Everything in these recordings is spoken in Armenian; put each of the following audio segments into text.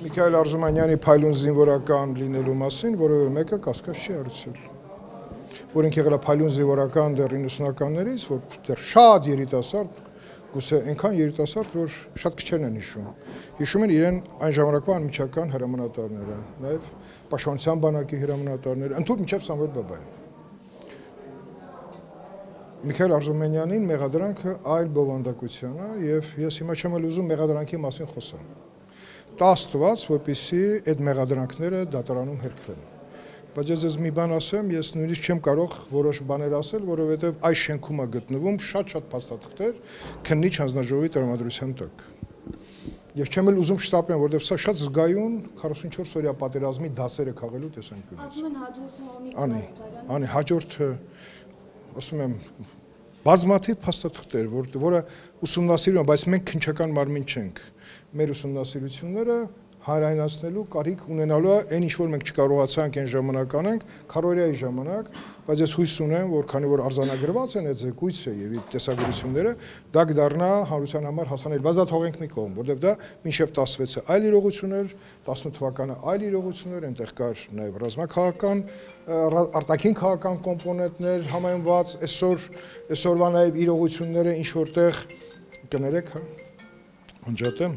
Միքայել Արզումանյանի փայլուն զինվորական լինելու մասին, որովհետև մեկը կասկած չի հարուցել։ Որ ինքը եղել է փայլուն զինվորական դեռ 90-ականներից, որ դեռ շատ երիտասարդ, գուցե այնքան երիտասարդ, որ շատ քչերն են հիշում։ Հիշում են իրեն այն ժամանակվա անմիջական հրամանատարները, նաև Պաշտպանության բանակի հրամանատարները, ընդհանուր մինչև Սամվել Բաբայան։ Միքայել Արզումանյանին մեղադրանքը այլ բովանդակության է, եւ ես հիմա չեմ ուզում մեղադրանքի մասին խոսալ։ Տա Աստված, որպեսզի այդ մեղադրանքները դատարանում հերքվեն։ Բայց ես մի բան ասեմ, ես նույնիսկ չեմ կարող որոշ բաներ ասել, որովհետև այս շենքում է գտնվում շատ փաստաթղթեր քննիչ հանձնաժողովի տրամադրության տակ։ Ես չեմ էլ ուզում շտապեմ, որովհետև սա շատ զգայուն 44 օրյա պատերազմի դասերը քաղելու տեսանկյունից։ Ասում են հաջորդը Անի հաջորդը, ասում եմ, բազմաթիվ փաստաթղթեր, որը ուսումնասիրում են, բայց մենք քննչական մարմին չենք։ Մեր ուսումնասիրությունները հանրայնացնելու կարիք ունենալու է այն ինչ որ մենք չկարողացանք այն ժամանակ անենք, քարորիայի ժամանակ, բայց ես հույս ունեմ, որ քանի որ արձանագրված են այդ զեկույցը եւ իր տեսագրությունները, դա կդառնա հանրության համար հասանելի, բայց դա թողենք մի կողմ, որովհետեւ դա մինչեւ 16-ը այլ իրողություն էր, 18 թվականը այլ իրողություն էր, այնտեղ կար նաեւ ռազմաքաղաքական, արտաքին քաղաքական կոմպոնենտներ համայնված, այսօրվա նաեւ իրողությունները ինչ որտեղ կներեք, հա, անջատեմ։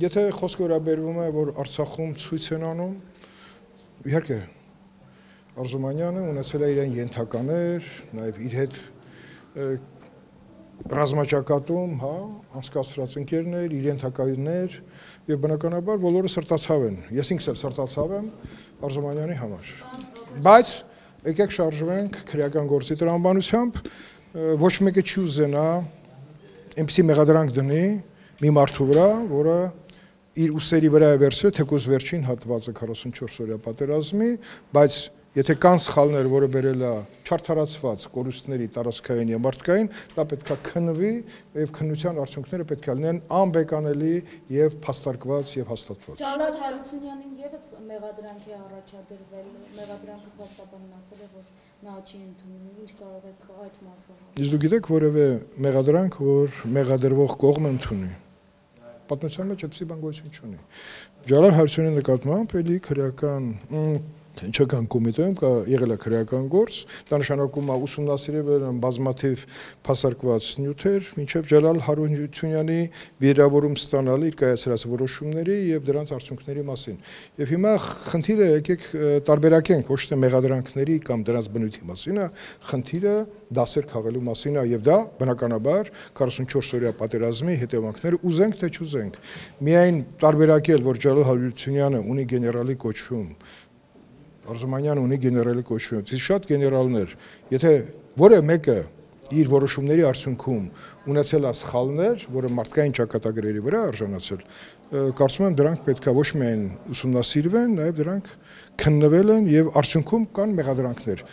Եթե խոսքը վերաբերվում է, որ Արցախում ցույց են անում, իհարկե Արզումանյանը ունեցել է իրեն ենթականեր, նաև իր հետ ռազմաճակատում, հա, անցկացրած ընկերներ, իր ենթակայիններ եւ բնականաբար բոլորը սրտացավ են։ Ես ինքս էլ սրտացավ եմ Արզումանյանի համար։ Բայց եկեք շարժվենք քրեական գործի տրամաբանությամբ, ոչ մեկը չի ուզենա այնպիսի մեղադրանք դնի մի մարդու վրա, որը իր ուսերի վրա է վերցրել թեկուզ վերջին հատվածը 44 օրյա պատերազմի, բայց եթե կան սխալներ, որը բերել է չարդարացված կորուստների տարածքային եւ մարդկային, դա պետք է քննվի եւ քննության արդյունքները պետք է լինեն անբեկանելի եւ փաստարկված եւ հաստատված։ Ջալալ Հարությունյանին եւս մեղադրանքի առաջադրվել, մեղադրանքը փաստաբանն ասել է, որ նա չի ընդունում, ինչ կարող եք այդ մասով։ Իսկ դու գիտեք որևէ մեղադրանք, որ մեղադրվող կողմը ընդունի։ Պատմության մեջ այդպիսի բան գոյություն չունի։ Ջալալ Հարությունյանի նկատմամբ էլի քրեական Ինչական կոմիտեում եղել է քրեական գործ, դա նշանակում է ուսումնասիրել են բազմաթիվ փաստարկված նյութեր, մինչև Ջալալ Հարությունյանի վիրավորում ստանալ իր կայացրած որոշումների եւ դրանց արդյունքների մասին։ Եվ հիմա խնդիրը եկեք տարբերակենք ոչ թե մեղադրանքների կամ դրանց բնույթի մասին, այլ խնդիրը դասեր քաղելու մասին է եւ դա բնականաբար 44 օրյա պատերազմի հետևանքները ուզենք թե չուզենք։ Միայն տարբերակել, որ Ջալալ Հարությունյանը ունի գեներալի կոչում, Արզումանյանը ունի գեներալի կոչում, իսկ շատ գեներալներ, եթե որը մեկը իր որոշումների արդյունքում ունեցել է սխալներ, որը մարդկային ճակատագրերի վրա արժանացել, կարծում եմ դրանք պետք է ոչ միայն ուսումնասիրվեն, նաև դրանք քննվել են եւ արդյունքում կան մեղադրանքներ։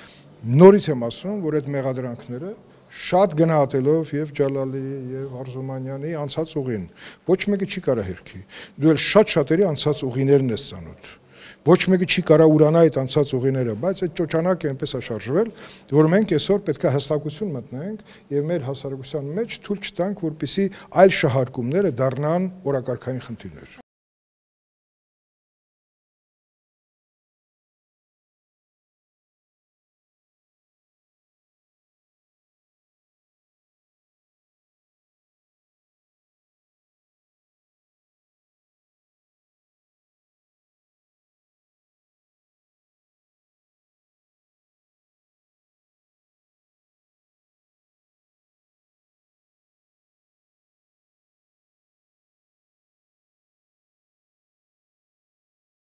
Նորից եմ ասում, որ այդ մեղադրանքները շատ գնահատելով եւ Ջալալի եւ Արզումանյանի անցած ուղին, ոչ մեկը չի կարա հերքի։ Դու էլ շատերի անցած ուղիներն ես ծանոթ։ Ոչ մեկը չի կարա ուրանա այդ անցած ուղիները, բայց այդ ճոճանակը այնպես է շարժվել, որ մենք այսօր պետք է հստակություն մտնենք եւ մեր հասարակության մեջ թույլ չտանք, որպեսզի այլ շահարկումները դառնան օրակարգային խնդիրներ։